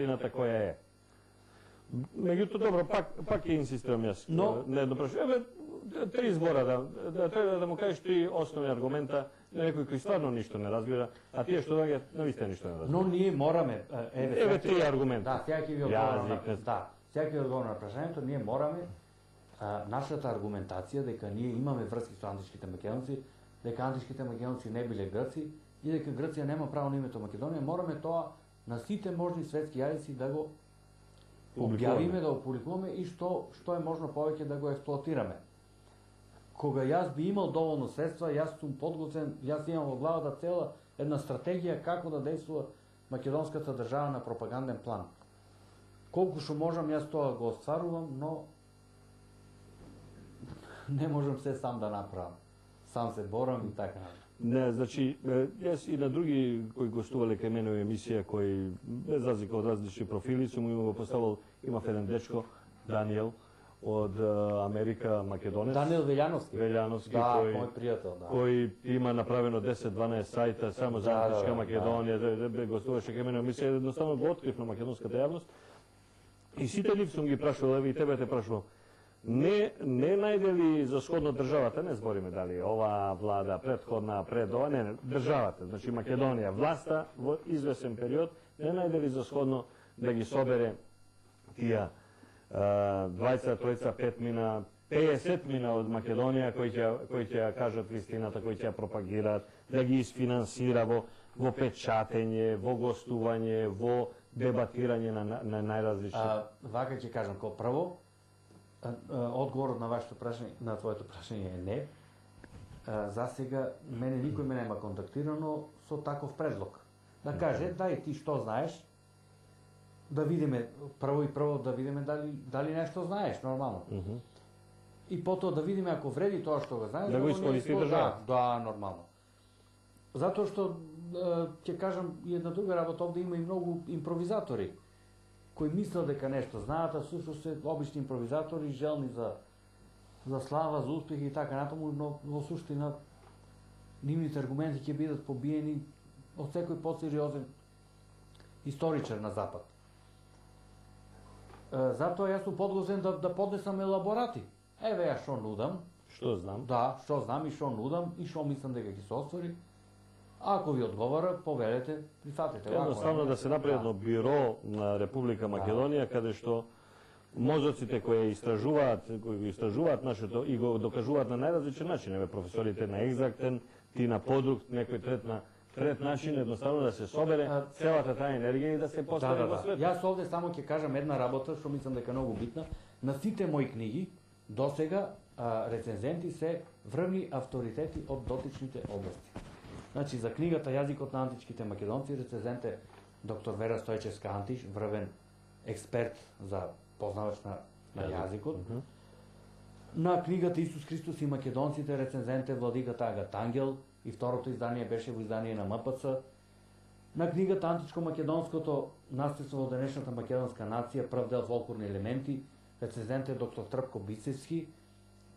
суштината која е. Меѓутоа, добро, пак ќе инсистирам јас на едно прашање. Три збора, да треба да му кажеш три основни аргумента на некој кој стварно ништо не разбира, а тие што доаѓаат навистина ништо не разбира. Но ние мораме, еве три аргумента. Да, сега ќе ви одговорам на прашањето, ние мораме нашата аргументација дека ние имаме врски со античките македонци, дека античките македонци не биле грци и дека Грција нема право на името Македонија, мораме тоа на сите можни светски јазици да го објавиме, да го публикуваме и што е можно повеќе да го експлоатираме. Кога јас би имал доволно средства, јас сум подготвен, јас имам во главата цела една стратегија како да действува македонската држава на пропаганден план. Колку што можам, јас тоа го остварувам, но не можам се сам да направам. Сам се борам и така. Не, значи, јас и на други кои гостувале кај мене во емисија, кои без разлика од различни профили, сум им го поставил, имав еден дечко, Даниел, од Америка, Македонец. Даниел Велјановски. Велјановски, мој пријател, да. Кој има направено 10-12 сајта само за античка Македонија, гостуваше кај мене во емисија, едноставно го открив на македонската јавност. И сите нив сум ги прашувал, еве и тебе те прашувал. Не најдели за сходно државата, не збориме дали ова влада, предходна, пред ова, не, државата, значи Македонија, власта во извесен период, не најдели за сходно да ги собере тие 20, 30, 5 мина, 50 мина од Македонија кои ќе ја кажат вистината, кои ќе ја пропагираат, да ги isfinansira во печатење, во гостување, во дебатирање на најразлични. Вака ќе кажам, како прво, одговорот на вашето прашање, на твоето прашање е не. За сега мене никој ме нема контактирано со таков предлог. Да каже, дај ти што знаеш, да видиме прво да видиме дали нешто знаеш нормално. И потоа да видиме ако вреди тоа што го знаеш, да го искористи држава. Да, нормално. Затоа што ќе кажам и една друга работа, овде има и многу импровизатори кои мислат дека нешто знаат, а всушност се обични импровизатори, желни за слава, за успех и така натаму, но во суштина нивните аргументи ќе бидат побиени од секој посериозен историчар на Запад. Затоа јас сум подготвен да поднесам елаборати. Еве ја што нудам. Што знам? Да, што знам и што нудам и што мислам дека ќе се оствари. Ако ви одговара, повелете, прифатете. Едноставно да се направи едно биро на Република Македонија, каде што мозоците кои истражуваат нашето и го докажуваат на најразличен начин, еве професорите на екзактен, ти на подруг, некој трет начин, едноставно да се собере целата таа енергија и да се постави во свет. Јас овде само ќе кажам една работа што мислам дека е многу битна. На сите мои книги досега рецензенти се врвни авторитети од дотичните области. Значи, за книгата Јазикот на античките македонци, рецензент е доктор Вера Стојчевска Антиш, врвен експерт за познавач на јазикот. На книгата Исус Христос и македонците, рецензент е владиката Агат Ангел, и второто издание беше во издание на МПЦ. На книгата Античко-македонското наследство во денешната македонска нација, прв дел фолклорни елементи, рецензент е доктор Трпко Бицевски,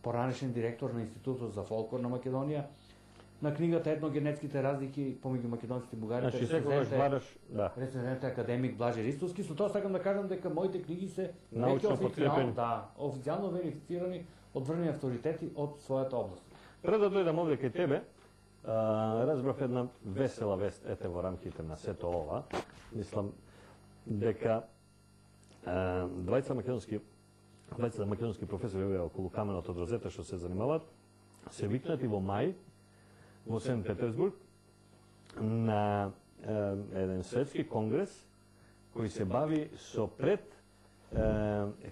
поранешен директор на Институтот за фолклор на Македонија. На книгата Етногенетските разлики помеѓу македонците и бугарите, рецензент е академик Блаже Ристовски. Со тоа сакам да кажам дека моите книги се научно подкрепени, официјално верифицирани од врвни авторитети од својата област. Пред да дојдам овде кај тебе, разбрав една весела вест во рамките на сето ова. Мислам дека двајца македонски професори околу каменот од Розета што се занимаваат се викнати во мај во Сент Петерсбург на еден светски конгрес кој се бави со пред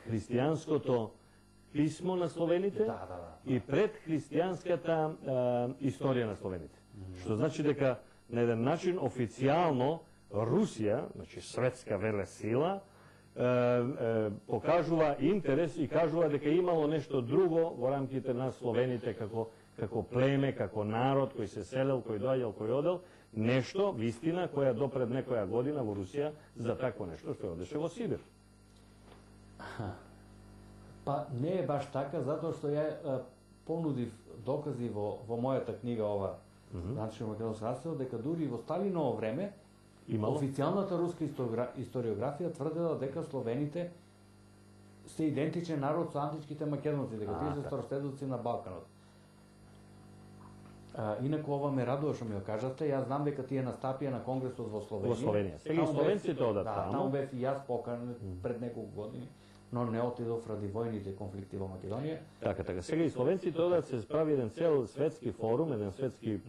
христијанското писмо на словените и пред христијанската историја на словените. Што значи дека на еден начин официјално Русија, значи светска велесила, покажува интерес и кажува дека имало нешто друго во рамките на словените како племе, како народ кој се селел, кој доаѓал, кој одел, нешто, вистина, која допред некоја година во Русија за такво нешто што одеше во Сибир. Па не е баш така, затоа што ја понудив докази во мојата книга ова Античко македонско наследство, дека дури во Сталиново време Имало? Официјалната руска историографија тврдела дека словените се идентичен народ со античките македонци, дека тие се староследовци на Балканот. Инаку ова ме радува што ми го кажавте, јас знам дека тие настапија на конгресот во Словенија. Во Словенија. Сега и словенците одат таму. Таму бев и јас поканет пред неколку години, но не отидов ради војните конфликти во Македонија. Така. Сега и словенците одат, се справи еден цел светски форум, еден светски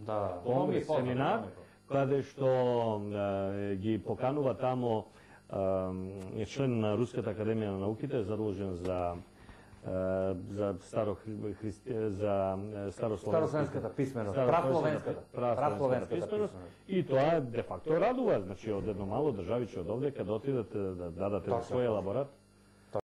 конгрес, семинар, каде што ги поканува тамо член на Руската академија на науките, задолжен за старословенската писменост, прасловенската писменост. И тоа де факто радува, значи од едно мало државиче од овде каде отидат да дадат свој елаборат.